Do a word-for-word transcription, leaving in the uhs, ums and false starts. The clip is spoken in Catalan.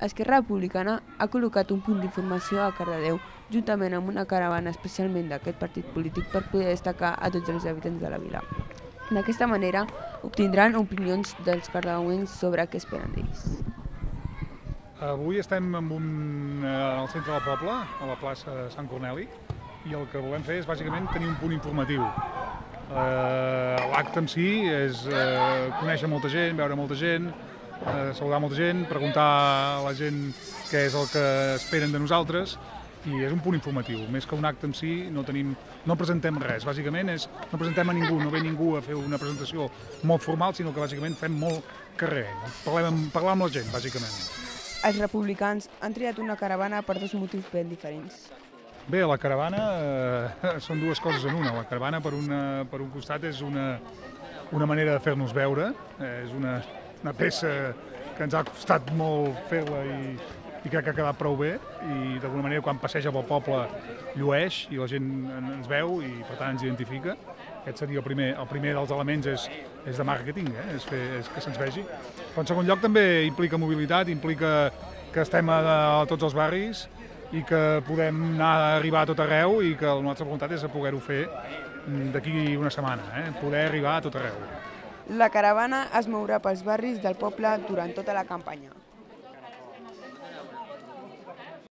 Esquerra Republicana ha col·locat un punt d'informació a Cardedeu, juntament amb una caravana especialment d'aquest partit polític per poder destacar a tots els habitants de la vila. D'aquesta manera obtindran opinions dels cardedeuencs sobre què esperen d'ells. Avui estem en un, al centre del poble, a la plaça de Sant Corneli, i el que volem fer és bàsicament tenir un punt informatiu. Eh, L'acte en si és eh, conèixer molta gent, veure molta gent, eh, saludar molta gent, preguntar a la gent què és el que esperen de nosaltres, i és un punt informatiu. Més que un acte en si no, tenim, no presentem res, bàsicament és, no presentem a ningú, no ve ningú a fer una presentació molt formal, sinó que bàsicament fem molt carrer, parlem, parlar amb la gent, bàsicament. Els republicans han triat una caravana per dos motius ben diferents. Bé, la caravana eh, són dues coses en una. La caravana, per, una, per un costat, és una, una manera de fer-nos veure. Eh, és una, una peça que ens ha costat molt fer-la i, i crec que ha quedat prou bé. I d'alguna manera, quan passeja pel poble, llueix i la gent ens veu i, per tant, ens identifica. Aquest seria el primer. El primer dels elements és, és de màrqueting, eh? és, fer, és que se'ns vegi. Però, en segon lloc, també implica mobilitat, implica que estem a, a tots els barris i que podem anar a arribar a tot arreu i que la nostra voluntat és poder-ho fer d'aquí una setmana, eh? poder arribar a tot arreu. La caravana es mourà pels barris del poble durant tota la campanya.